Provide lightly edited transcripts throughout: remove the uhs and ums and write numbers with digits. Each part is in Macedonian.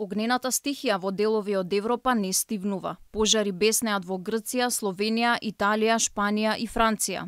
Огнената стихија во делови од Европа не стивнува. Пожари беснеат во Грција, Словенија, Италија, Шпанија и Франција.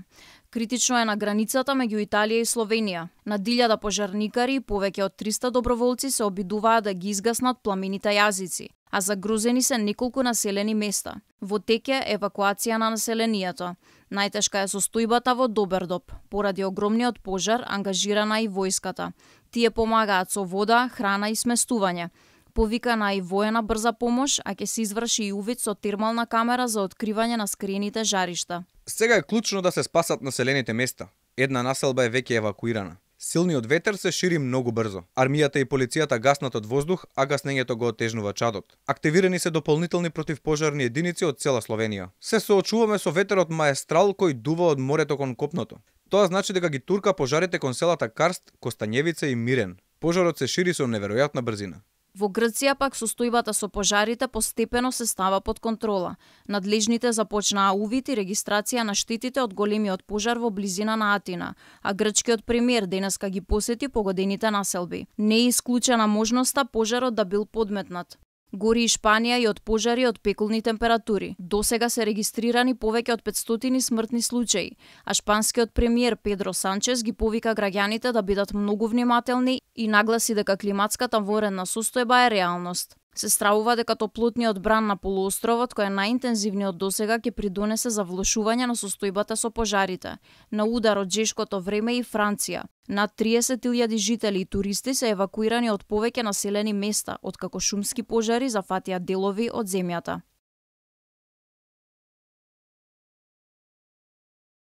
Критично е на границата меѓу Италија и Словенија. На 1000 пожарникари и повеќе од 300 доброволци се обидуваат да ги изгаснат пламените јазици, а загрозени се неколку населени места. Во тек е евакуација на населението. Најтешка е состојбата во Добердоп. Поради огромниот пожар ангажирана и војската. Тие помагаат со вода, храна и сместување. Повикана и воена брза помош, а ќе се изврши и увид со термална камера за откривање на скриените жаришта. Сега е клучно да се спасат населените места. Една населба е веќе евакуирана. Силниот ветер се шири многу брзо. Армијата и полицијата гаснат од воздух, а гаснењето го отежнува чадот. Активирани се дополнителни противпожарни единици од цела Словенија. Се соочуваме со ветерот маестрал кој дува од морето кон копното. Тоа значи дека ги турка пожарите кон селата Карст, Костанјевица и Мирен. Пожарот се шири со неверојатна брзина. Во Грција пак состојбата со пожарите постепено се става под контрола. Надлежните започнаа увид и регистрација на штетите од големиот пожар во близина на Атина, а грчкиот премиер денеска ги посети погодените населби. Не е исклучена можноста пожарот да бил подметнат. Гори и Шпанија и од пожари од пекулни температури. Досега се регистрирани повеќе од 500 смртни случаи, а шпанскиот премиер Педро Санчес ги повика граѓаните да бидат многу внимателни и нагласи дека климатската воредна состојба е реалност. Се стравува дека топлотниот бран на полуостровот, кој е најинтензивниот досега, ќе придонесе за влошување на состојбата со пожарите. На удар од жешкото време и Франција. Над 30.000 жители и туристи се евакуирани од повеќе населени места, откако шумски пожари зафатија делови од земјата.